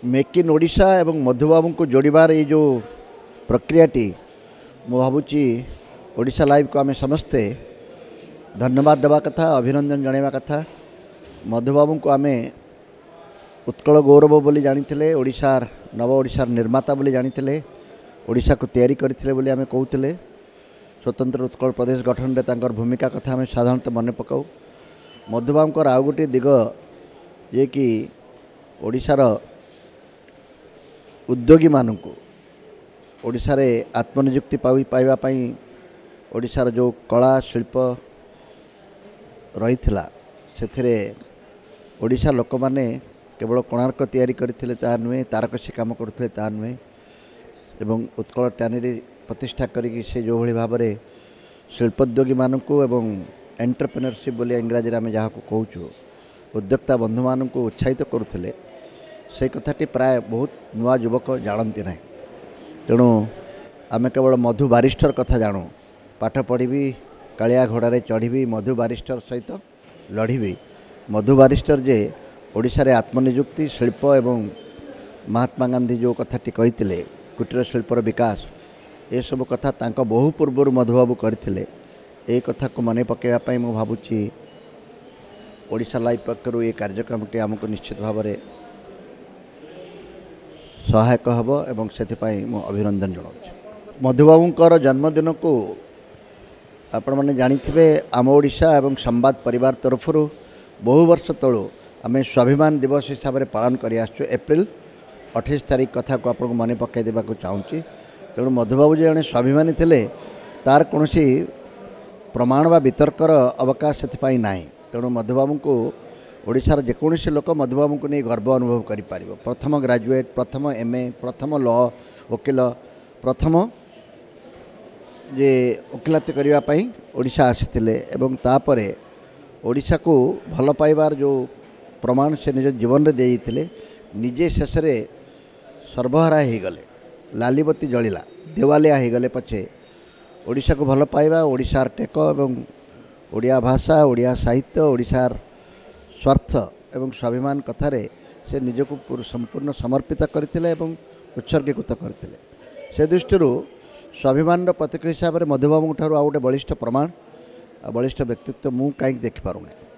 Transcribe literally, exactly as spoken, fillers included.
Make in Odisha ଏବଂ ମଧୁବାବୁଙ୍କୁ ଯୋଡ଼ିବାର ଏଇ ଯେଉଁ ପ୍ରକ୍ରିୟାଟି, ମୁଁ ଭାବୁଛି ଓଡ଼ିଶା ଲାଇଭ୍କୁ ଆମେ ସମସ୍ତେ ଧନ୍ୟବାଦ ଦେବା କଥା, ଅଭିନନ୍ଦନ ଜଣାଇବା କଥା। ମଧୁବାବୁଙ୍କୁ ଆମେ ଉତ୍କଳ ଗୌରବ ବୋଲି ଜାଣିଥିଲେ, ଓଡ଼ିଶାର ନବ ଓଡ଼ିଶାର ନିର୍ମାତା ବୋଲି ଜାଣିଥିଲେ, ଓଡ଼ିଶାକୁ ତିଆରି କରିଥିଲେ ବୋଲି ଆମେ କହୁଥିଲେ। ସ୍ୱତନ୍ତ୍ର ଉତ୍କଳ ପ୍ରଦେଶ ଗଠନରେ ତାଙ୍କର ଭୂମିକା କଥା ଆମେ ସାଧାରଣତଃ ମନେ ପକାଉ। ମଧୁବାବୁଙ୍କର ଆଉ ଗୋଟିଏ ଦିଗ ଯିଏକି ଓଡ଼ିଶାର ଉଦ୍ୟୋଗୀମାନଙ୍କୁ ଓଡ଼ିଶାରେ ଆତ୍ମନିଯୁକ୍ତି ପାଇ ପାଇବା ପାଇଁ ଓଡ଼ିଶାର ଯେଉଁ କଳା ଶିଳ୍ପ ରହିଥିଲା, ସେଥିରେ ଓଡ଼ିଶା ଲୋକମାନେ କେବଳ କୋଣାର୍କ ତିଆରି କରିଥିଲେ ତାହା ନୁହେଁ, ତାରକସି କାମ କରୁଥିଲେ ତାହା ନୁହେଁ, ଏବଂ ଉତ୍କଳ ଟ୍ୟାନେରୀ ପ୍ରତିଷ୍ଠା କରିକି ସେ ଯେଉଁଭଳି ଭାବରେ ଶିଳ୍ପୋଦ୍ୟୋଗୀମାନଙ୍କୁ ଏବଂ ଏଣ୍ଟରପ୍ରେନରସିପ୍ ବୋଲି ଇଂରାଜୀରେ ଆମେ ଯାହାକୁ କହୁଛୁ, ଉଦ୍ୟୋକ୍ତା ବନ୍ଧୁମାନଙ୍କୁ ଉତ୍ସାହିତ କରୁଥିଲେ, ସେ କଥାଟି ପ୍ରାୟ ବହୁତ ନୂଆ ଯୁବକ ଜାଣନ୍ତି ନାହିଁ। ତେଣୁ ଆମେ କେବଳ ମଧୁ ବାରିଷ୍ଟର କଥା ଜାଣୁ, ପାଠ ପଢ଼ିବି କାଳିଆ ଘୋଡ଼ାରେ ଚଢ଼ିବି, ମଧୁ ବାରିଷ୍ଟର ସହିତ ଲଢ଼ିବି। ମଧୁ ବାରିଷ୍ଟର ଯେ ଓଡ଼ିଶାରେ ଆତ୍ମନିଯୁକ୍ତି ଶିଳ୍ପ ଏବଂ ମହାତ୍ମା ଗାନ୍ଧୀ ଯେଉଁ କଥାଟି କହିଥିଲେ କୁଟୀର ଶିଳ୍ପର ବିକାଶ, ଏସବୁ କଥା ତାଙ୍କ ବହୁ ପୂର୍ବରୁ ମଧୁବାବୁ କରିଥିଲେ। ଏ କଥାକୁ ମନେ ପକାଇବା ପାଇଁ ମୁଁ ଭାବୁଛି ଓଡ଼ିଶା ଲାଇଭ୍ ପକ୍ଷରୁ ଏ କାର୍ଯ୍ୟକ୍ରମଟି ଆମକୁ ନିଶ୍ଚିତ ଭାବରେ ସହାୟକ ହେବ ଏବଂ ସେଥିପାଇଁ ମୁଁ ଅଭିନନ୍ଦନ ଜଣାଉଛି। ମଧୁବାବୁଙ୍କର ଜନ୍ମଦିନକୁ ଆପଣମାନେ ଜାଣିଥିବେ, ଆମ ଓଡ଼ିଶା ଏବଂ ସମ୍ବାଦ ପରିବାର ତରଫରୁ ବହୁ ବର୍ଷ ତଳୁ ଆମେ ସ୍ୱାଭିମାନ ଦିବସ ହିସାବରେ ପାଳନ କରି ଆସିଛୁ। ଏପ୍ରିଲ ଅଠେଇଶ ତାରିଖ କଥାକୁ ଆପଣଙ୍କୁ ମନେ ପକାଇ ଦେବାକୁ ଚାହୁଁଛି। ତେଣୁ ମଧୁବାବୁ ଯେ ଜଣେ ସ୍ୱାଭିମାନୀ ଥିଲେ ତାର କୌଣସି ପ୍ରମାଣ ବା ବିତର୍କର ଅବକାଶ ସେଥିପାଇଁ ନାହିଁ। ତେଣୁ ମଧୁବାବୁଙ୍କୁ ଓଡ଼ିଶାର ଯେକୌଣସି ଲୋକ ମଧୁବାବୁଙ୍କୁ ନେଇ ଗର୍ବ ଅନୁଭବ କରିପାରିବ। ପ୍ରଥମ ଗ୍ରାଜୁଏଟ୍, ପ୍ରଥମ ଏମ୍ ଏ, ପ୍ରଥମ ଲ ଓକିଲ, ପ୍ରଥମ ଯେ ଓକିଲାତି କରିବା ପାଇଁ ଓଡ଼ିଶା ଆସିଥିଲେ ଏବଂ ତାପରେ ଓଡ଼ିଶାକୁ ଭଲ ପାଇବାର ଯେଉଁ ପ୍ରମାଣ ସେ ନିଜ ଜୀବନରେ ଦେଇଥିଲେ, ନିଜେ ଶେଷରେ ସର୍ବହରା ହୋଇଗଲେ, ଲାଲିବତୀ ଜଳିଲା, ଦେୱାଲିଆ ହୋଇଗଲେ ପଛେ ଓଡ଼ିଶାକୁ ଭଲ ପାଇବା, ଓଡ଼ିଶାର ଟେକ ଏବଂ ଓଡ଼ିଆ ଭାଷା, ଓଡ଼ିଆ ସାହିତ୍ୟ, ଓଡ଼ିଶାର ସ୍ୱାର୍ଥ ଏବଂ ସ୍ୱାଭିମାନ କଥାରେ ସେ ନିଜକୁ ସମ୍ପୂର୍ଣ୍ଣ ସମର୍ପିତ କରିଥିଲେ ଏବଂ ଉତ୍ସର୍ଗୀକୃତ କରିଥିଲେ। ସେ ଦୃଷ୍ଟିରୁ ସ୍ୱାଭିମାନର ପ୍ରତୀକ ହିସାବରେ ମଧୁବାବୁଙ୍କ ଠାରୁ ଆଉ ଗୋଟେ ବଳିଷ୍ଠ ପ୍ରମାଣ ଆଉ ବଳିଷ୍ଠ ବ୍ୟକ୍ତିତ୍ୱ ମୁଁ କାହିଁକି ଦେଖିପାରୁନାହିଁ।